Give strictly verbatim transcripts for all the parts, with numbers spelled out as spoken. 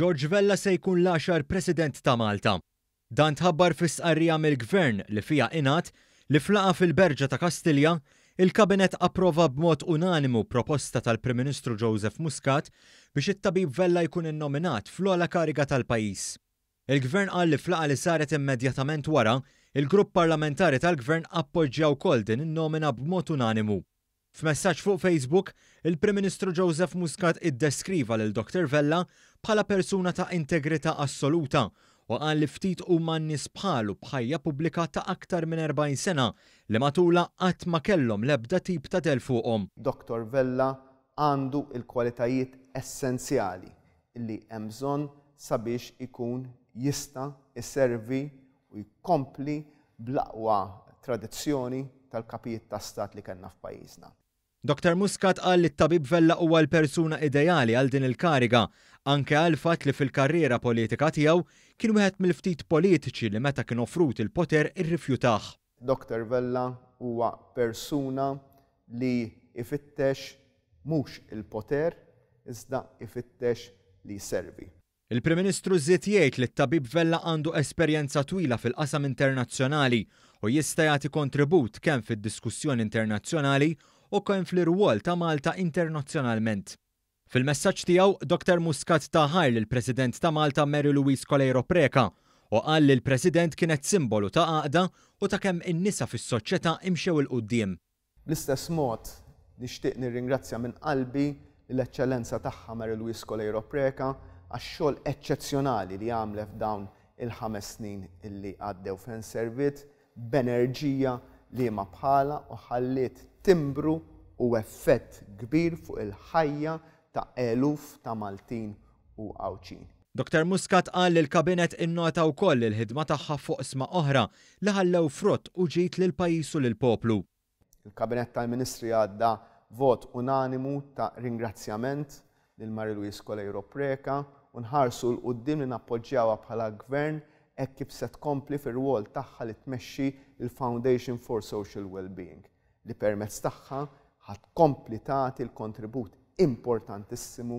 George Vella se jkun l-għaxar President ta' Malta. Dan tħabbar fi stqarrija mill-Gvern li fiha ingħad li f'laqgħa fil-Berġa ta' Kastilja, il-Kabinett approva b'mod unanimu proposta tal-Prim Ministru Joseph Muscat biex it-tabib Vella jkun innominat fl-ogħla kariga tal-pajjiż. Il-Gvern qal li f'laqgħa li saret immedjatament wara, il-grupp parlamentari tal-Gvern appoġġja wkoll din in-nomina b'mod unanimu. F'messaġġ fuq Facebook, il-Prim Ministru Joseph Muscat iddeskriva lil Dottor Vella bħala persuna ta' integrità assoluta u qal li ftit huma n-nies bħalu b'ħajja pubblika ta' aktar minn erbgħin sena li matulha qatt ma kellhom l-ebda tip ta' del fuqhom. Dottor Vella għandu l-kwalitajiet essenzjali li hemm bżonn sabiex ikun jista' iservi u jkompli bl-aqwa tradizzjoni tal-kapijiet ta' stat li kellna f'pajjiżna. Dottor Muscat qal li t-tabib Vella huwa l-persuna ideali għal din il-kariga, anke għal fatt li fil-karriera politika tiegħu kien wieħed mill-ftit politiċi li meta kien offrut il-poter irrifjutah. Dottor Vella huwa persuna li ifittex mhux il-poter, iżda ifittex li jservi. Il-Prim Ministru żied jgħid li t-tabib Vella għandu esperjenza twila fil-qasam internazzjonali u jista' jagħti kontribut kemm fid-diskussjoni internazzjonali u kemm fl-irwol ta' Malta internazzjonalment. Fil-messaġġ tiegħu, Dottor Muscat ta ħajr lill-President ta' Malta Mary Louise Coleiro Preca u qal li l-President kienet simbolu ta' għaqda u ta' kemm in-nisa fis-soċjetà imxew 'il quddiem. Bl-istess mod nixtieq nirringrazzja minn qalbi l-Eċċellenza tagħha Mary Louise Coleiro Preca għax-xogħol eċċezzjonali li għamlet f'dawn il-ħames snin illi għaddew fejn serviet b'enerġija li ma bħala u ħalliet timbru u effett kbir fuq il-ħajja ta' eluf ta' Maltin u Għawdxin. Dottor Muscat qal li l-Kabinett innota wkoll il-ħidma tagħha fuq oqsma oħra li ħallew frott u ġid lil pajjiż u lill-poplu. Il-Kabinett tal-Ministri għadda vot unanimu ta' ringrazzjament lil Mary Louise Coleiro Preca u nħarsu 'l quddiem li nappoġġjawha bħala gvern hekk kif se tkompli fir-rwol tagħha li tmexxi il-Foundation for Social Wellbeing li permezz tagħha ħa tkompli tagħti l-kontribut importantissimu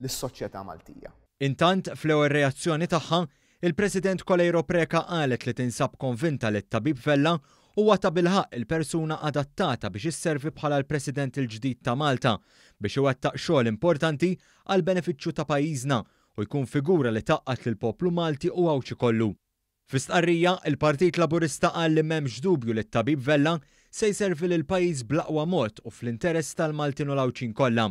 lis-soċjetà Maltija. Intant, fl-ewwel reazzjoni tagħha, il-President Coleiro Preca qalet li tinsab konvinta li t-tabib Vella huwa tabilħaqq il-persuna adattata biex isservi bħala l-President il-ġdid ta' Malta biex iwettaq xogħol importanti għal benefiċċju ta' pajjiżna u jkun figura li tgħaqqad lill-poplu Malti u Għawdxi kollu. Fi stqarrija, il-Partit Laburista qal li m'hemmx dubju li t-tabib Vella se jservi lil pajjiż bl-aqwa mod u fl-interess tal-Maltin u l-Għawdxin kollha.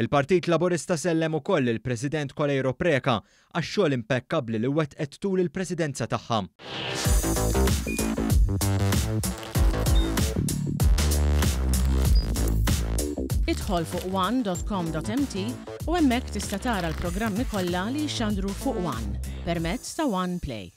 Il-Partit Laburista sellem ukoll il-President Coleiro Preca għax-xogħol impekkabbli li wettqet tul il-presidenza tagħha. Idħol fuq one dot com dot m t u hemmhekk tista' tara l-programmi kollha li jxandru fuq One permezz ta' One Play.